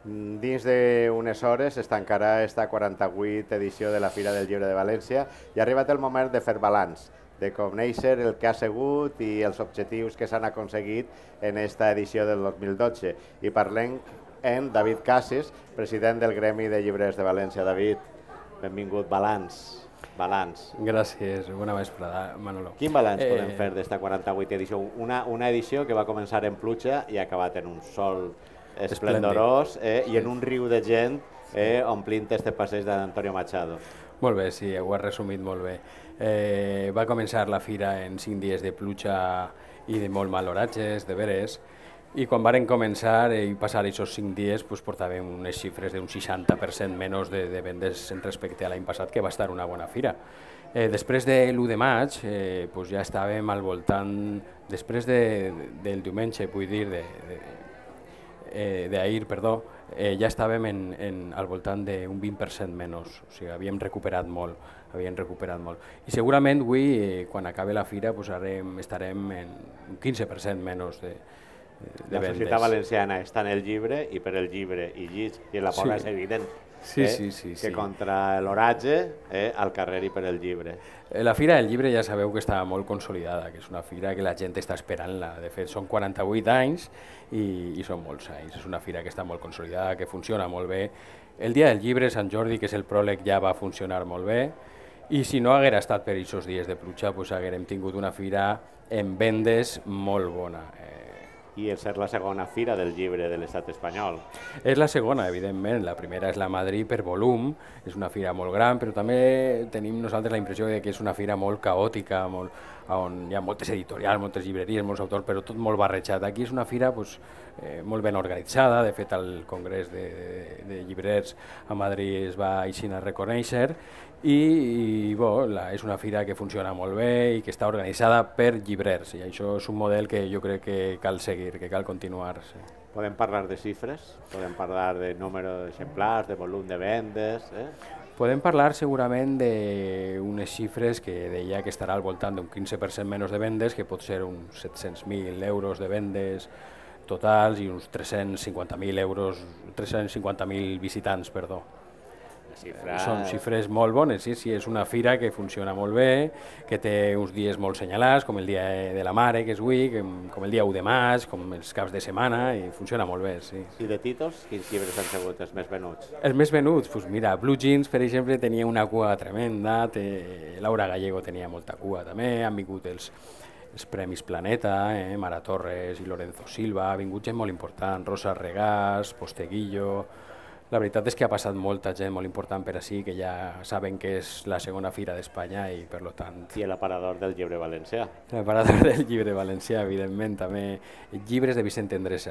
Dins d'unes hores es tancarà esta 48 edició de la Fira del Llibre de València i ha arribat el moment de fer balanç, de conèixer el que ha sigut i els objectius que s'han aconseguit en esta edició del 2012. I parlem amb David Cassis, president del Gremi de Llibres de València. David, benvingut. Balanç. Gràcies, bona vesprada, Manolo. Quin balanç podem fer d'esta 48 edició? Una edició que va començar en pluja i ha acabat en un sol esplendorós i en un riu de gent omplint este passeig d'Antonio Machado. Molt bé, sí, ho has resumit molt bé. Va començar la fira en 5 dies de pluja i de molt mal oratges, de veres, i quan varen començar i passar aquests 5 dies portàvem unes xifres d'un 60% menys de vendes respecte a l'any passat, que va estar una bona fira. Després de l'1 de maig ja estàvem al voltant, després del diumenge, vull dir, d'ahir, perdó, ja estàvem al voltant d'un 20% menys, o sigui, havíem recuperat molt. I segurament avui, quan acabi la fira, estarem en un 15% menys de vendes. La societat valenciana està en el llibre i per el llibre i llig, i la poca és evident que contra l'oratge al carrer i per el llibre. La Fira del Llibre ja sabeu que està molt consolidada, que és una fira que la gent està esperant-la. De fet, són 48 anys i són molts anys. És una fira que està molt consolidada, que funciona molt bé. El dia del llibre, Sant Jordi, que és el pròleg, ja va funcionar molt bé. I si no haguera estat per aquests dies de pluja, haguérem tingut una fira en vendes molt bona. I el ser la segona fira del llibre de l'estat espanyol. És la segona, evidentment. La primera és la Madrid per volum, és una fira molt gran, però també tenim nosaltres la impressió que és una fira molt caòtica, on hi ha moltes editorials, moltes llibreries, molts autors, però tot molt barrejat. Aquí és una fira molt ben organitzada. De fet, el Congrés de Llibrers a Madrid es va així a reconèixer i és una fira que funciona molt bé i que està organitzada per llibrers, i això és un model que jo crec que cal seguir, que cal continuar. Podem parlar de xifres? Podem parlar de número d'exemplars, de volum de vendes? Podem parlar segurament d'unes xifres que deia que estarà al voltant d'un 15% menys de vendes, que pot ser uns 700.000 euros de vendes totals i uns 350.000 visitants, perdó. Són xifres molt bones, sí, és una fira que funciona molt bé, que té uns dies molt senyalats, com el dia de la Mare, que és avui, com el dia 1 de maig, com els caps de setmana, i funciona molt bé, sí. I de títols, quins llibres han sigut els més venuts? Els més venuts? Doncs mira, Blue Jeans, per exemple, tenia una cua tremenda, Laura Gallego tenia molta cua també, han vingut els Premis Planeta, Mara Torres i Lorenzo Silva, ha vingut gent molt important, Rosa Regàs, Posteguillo. La veritat és que ha passat molta gent molt important per ací, que ja saben que és la segona fira d'Espanya i per tant... I l'aparador del llibre valencià. L'aparador del llibre valencià, evidentment, també. Llibres de Vicent Andrés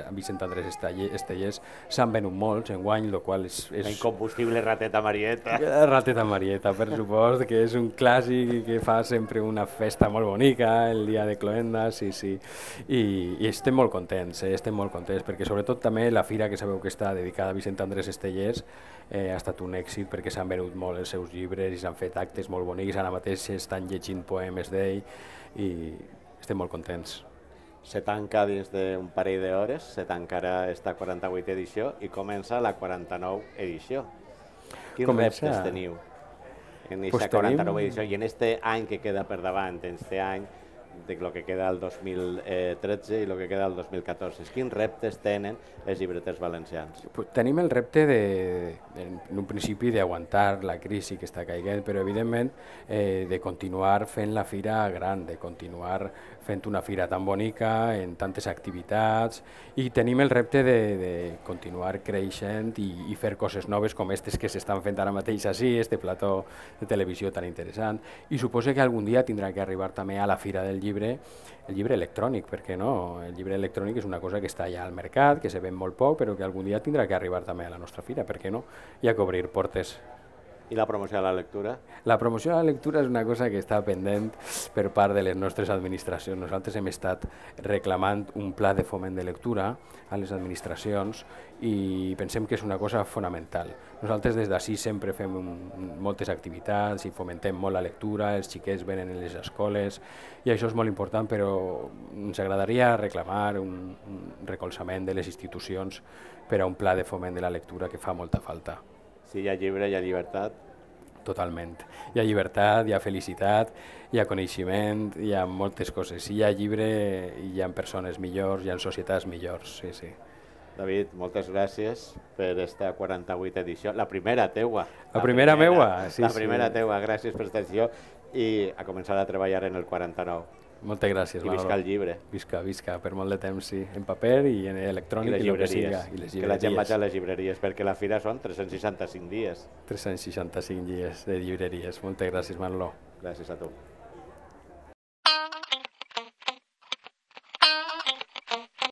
Estellés s'han venut molts enguany, el qual és... La incombustible Rateta Marieta. Rateta Marieta, per supost, que és un clàssic i que fa sempre una festa molt bonica, el dia de Cloenda, sí. I estem molt contents, perquè sobretot també la fira, que sabeu que està dedicada a Vicent Andrés Estellés, ha estat un èxit perquè s'han venut molt els seus llibres i s'han fet actes molt bonics, ara mateix estan llegint poemes d'ell i estem molt contents. Se tanca dins d'un parell d'hores, se tancarà esta 48 edició i comença la 49 edició. Quins reptes teniu en aquesta 49 edició i en este any que queda per davant, en este any de lo que queda el 2013 i lo que queda el 2014. Quins reptes tenen els llibreters valencians? Tenim el repte, en un principi, d'aguantar la crisi que està caiguent, però evidentment de continuar fent la fira gran, de continuar fent una fira tan bonica, en tantes activitats, i tenim el repte de continuar creixent i fer coses noves com aquestes que s'estan fent ara mateix així, este plató de televisió tan interessant, i suposo que algun dia tindrà que arribar també a la Fira del Llibre, el llibre electrònic, per què no? El llibre electrònic és una cosa que està ja al mercat, que se ven molt poc, però que algun dia tindrà que arribar també a la nostra fira, per què no? Hi ha que obrir portes. I la promoció de la lectura? La promoció de la lectura és una cosa que està pendent per part de les nostres administracions. Nosaltres hem estat reclamant un pla de foment de lectura a les administracions i pensem que és una cosa fonamental. Nosaltres des d'ací sempre fem moltes activitats i fomentem molt la lectura, els xiquets venen a les escoles i això és molt important, però ens agradaria reclamar un recolzament de les institucions per a un pla de foment de la lectura que fa molta falta. Si hi ha llibre, hi ha llibertat. Totalment. Hi ha llibertat, hi ha felicitat, hi ha coneixement, hi ha moltes coses. Si hi ha llibre, hi ha persones millors, hi ha societats millors, sí, sí. David, moltes gràcies per esta 48a edició, la primera teua. La primera meua? Sí, la primera sí. teua, gràcies per esta edició i a començar a treballar en el 49. Moltes gràcies, I visca el llibre. Visca, visca, per molt de temps, sí. En paper i en electrònic i el que siga. I les llibreries. Que la gent vagi a les llibreries, perquè la fira són 365 dies. 365 dies de llibreries. Moltes gràcies, Manolo. Gràcies a tu.